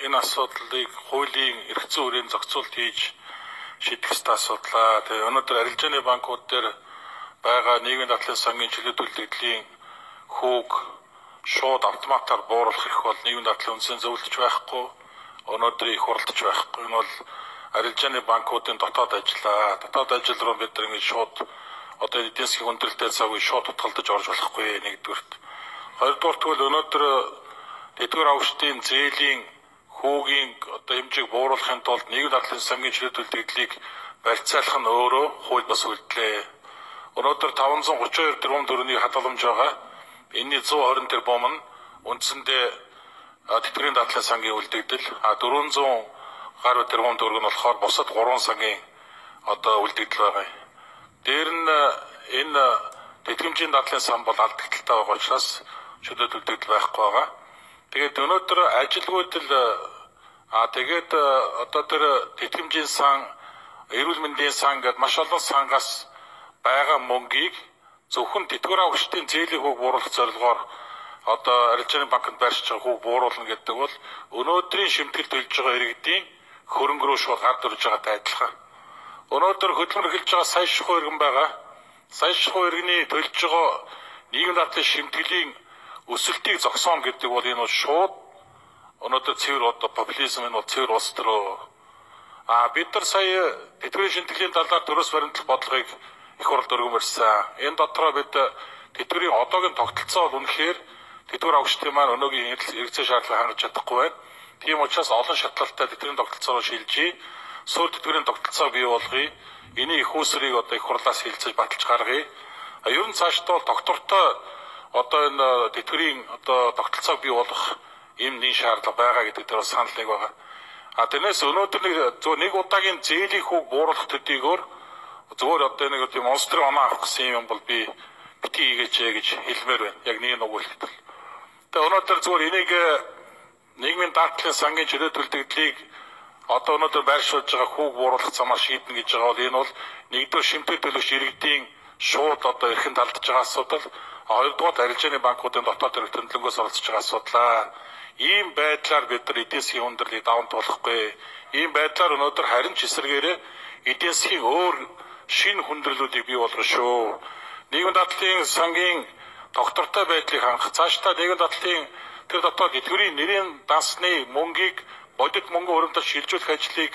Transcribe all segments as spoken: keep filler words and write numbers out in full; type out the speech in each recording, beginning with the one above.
энэ асуудлыг хуулийн эрх зүйн үрийн зохицуулт хийж шийдэх ёстой асуудлаа. Тэгээ өнөөдөр арилжааны банкуд дээр байгаа нийгмийн дадлын сангийн чөлөөт үйлдвэрлэлийн хүүг шууд автоматар бууруулах эрх бол нийгмийн дадлын үндсийн зөвлөж байхгүй. Өнөөдөр их хуралдаж байхгүй. Энэ бол арилжааны банкуудын дотоод ажиллаа. Дотоод ажил руу бид нар ингэж шууд одоо эдийн засгийн хүндрэлтэй цагийг шууд утгалдаж орж болохгүй нэгдүгürt. Хоёрдугаар тэгвэл өнөөдөр тэтгэвэр авагчдын зээлийн хүүгийн одоо хэмжээг бууруулахын тулд нийгмийн дадлын сангийн чөлөөт үйлдвэрлэлийг барьцаалах нь өөрөө хууль бас үйлдэлээ. Өнөөдөр таван зуун гурван хоёр тэрбум төгрөгийн хадгаламж байгаа. Энэний зуун хорин тэрбум нь үндсэндээ тэтгэврийн дадлын сангийн үйлдвэрлэл, а дөрвөн зуун гаруй тэрбум төгрөг нь болохоор бусад гурван сангийн одоо үйлдвэрлэл байгаа. Дээр нь энэ тэтгэмжийн дадлын сан бол алдагдaltaй байгаа учраас чөлөөт үйлдвэрлэл байхгүй байгаа. Тэгээд өнөөдөр ажилгүйдэл а тэгээд одоо тэр тэтгэмжийн сан, эрүүл мэндийн сан гэдэг маш олон сангаас байгаа мөнгийг зөвхөн тэтгэвэр авагчдын зээлийн хүүг бууруулах зорилгоор одоо арилжааны банкнд байршиж байгаа хүүг бууруулна гэдэг бол өнөөдрийн шимтгэлд төлж байгаа иргэдийн хөрөнгө рүү шууд гард ирж байгаатай адилхан. Өнөөдөр хөдөлмөр эхэлж байгаа сая шихуй иргэн байгаа. Сая шихуй иргэний төлж байгаа нийгмийн дадлын шимтгэлийн өсөлтийг зогсооно гэдэг бол энэ бол шууд өнөөдөр цэвэр одоо популизм энэ бол цэвэр улс төрөө. А бид нар сая тэтгэврийн шинтгэлийн талаар төрөөс баримтлах бодлогыг их хурд өргөмөрсөн. Энэ дотроо бид тэтгэврийн одоогийн тогтолцоо бол үнэхээр тэтгэвэр авагчдын маань өнөөгийн хэрэгцээ шаардлагыг хангаж чадахгүй байна. Тийм учраас олон шатлалтай тэтгэврийн тогтолцоороо шилжиж, суур тэтгэврийн тогтолцоо бий болгоё. Эний их усрыг одоо их хурлаас хилцэж баталж гаргая. А ер нь цаашдаа бол доктортой одоо энэ тэтгэврийн одоо тогтолцоог бий болгох юм нэг шаардлага байгаа гэдэг дээр санал нэг байгаа. А тэрнээс өнөөдөр нэг зөв нэг удаагийн зээлийн хүүг бууруулах төдийгөр зөвөр одоо нэг тийм монстр оноо авах гэсэн юм бол би бити хийгээч гэж хэлмээр байна. Яг нэг нүгүүлэхэд. Тэгээ өнөөдөр зөвөр энийг нийгмийн дадлын сангийн чөлөөт үйлдвэрлэлийг одоо өнөөдөр байршуулж байгаа хүүг бууруулах замаар шийднэ гэж байгаа бол энэ бол нэгдүгээр шимтгэл төлөвч иргэдийн шууд одоо эрхэнд алдж байгаа асуудал. Хоёрдугаар арилжааны банкуудын дотоод хэрэг төлөвлөгөөс оролцож байгаа асуудлаа. Ийм байдлаар бид нар эдийн засгийн хүндрэлийг даван туулахгүй. Ийм байдлаар өнөөдөр харин ч эсрэгээрээ эдийн засгийн өөр шинэ хүндрэлүүдийг бий болгоно шүү. Нийгмийн дадлын сангийн доктортой байдлыг хангах, цаашдаа нийгмийн дадлын тэр дотоод тэтгэврийн нэрийн дансны мөнгийг бодит мөнгө өрөмтөд шилжүүлэх ажлыг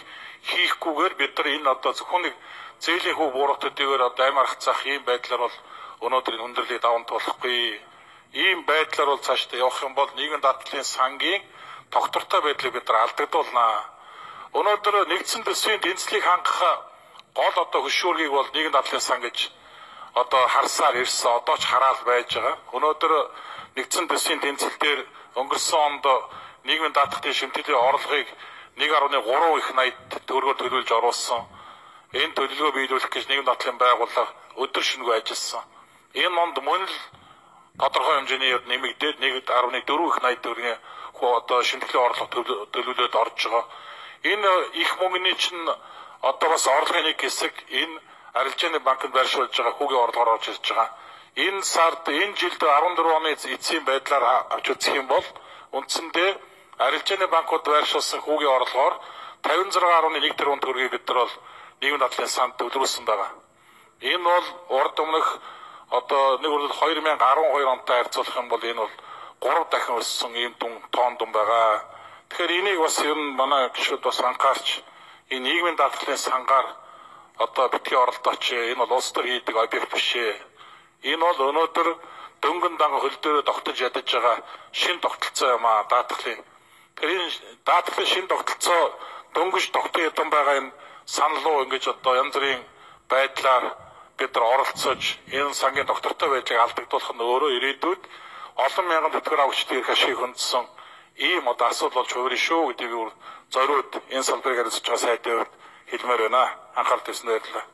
хийхгүйгээр бид нар энэ одоо зөвхөн нэг зээлийн хүү бууруулах төдийгөр одоо амь аргацах ийм байдлаар бол өнөөдөр энэ хүндрэлийг даван туулахгүй. Ийм байдлаар бол цаашдаа явах юм бол нийгмийн дадлын сангийн доктортой байдлыг бид нар алдагдуулнаа. Өнөөдөр нэгдсэн төсвийн тэнцлийг хангах гол одоо хөшүүргийг бол нийгмийн дадлын сан гэж одоо харсаар ирсэн, одоо ч хараал байж байгаа. Өнөөдөр нэгдсэн төсвийн тэнцэл дээр өнгөрсөн онд нийгмийн дадлын шимтгэлийн орлогыг нэг гаруй гурван их найд төгрөгөөр төлөвлөж оруулсан. Энэ төлөвлөгөө биелүүлэх гэж нийгмийн дадлын байгууллага өдөр шөнөгүй ажилласан. Энэ монд мөн л тодорхой хэмжээний нэмэгдээд нэг гаруй дөрвөн их найд төгрөгийн одоо шимтгэлийн орлого төлөвлөлөд орж байгаа. Энэ их мөнгөний чинь одоо бас орлогын нэг хэсэг энэ арилжааны банкнд байршуулж байгаа хүүгийн орлогоор орж ирж байгаа. Энэ сард энэ жилд арван дөрвөн оны эцсийн байдлаар авч үзэх юм бол үндсэндээ арилжааны банкуд байршуулсан хүүгийн орлогоор тавин зургаан гаруй нэг тэрбум төгрөгийг бид нар бол нийгмийн дадлын санд төвлөрүүлсэн байгаа. Энэ бол урд өмнөх одоо нэг үрдэл хоёр мянга арван хоёр онтой харьцуулах юм бол энэ бол гурав дахин өссөн ийм дүн тоон дүн байгаа. Тэгэхээр энийг бас ер нь манай гишүүд бас анхаарч энэ нийгмийн дадлын сангаар одоо битгий оролдооч. Энэ бол улс төр хийдэг объект биш ээ. Энэ бол өнөөдөр дөнгөн данга хөл дээрээ тогтож ядаж байгаа шин тогтолцоо юм аа даатгалын. Тэр энэ даатгалын шин тогтолцоо дөнгөж тогтсон ядсан байгаа энэ санал руу ингэж одоо янз бүрийн байдлаар бид нар оролцож энэ сангийн доктортой байдлыг алдагдуулах нь өөрөө ирээдүйд олон мянган тэтгэвэр авагчдын эрх ашиг хөндсөн ийм одоо асуудал болж хувирна шүү гэдгийг зориуд энэ салбарыг хариуцж байгаа сайдын хувьд хэлмээр байна. Анхаарал тавьсанд баярлалаа.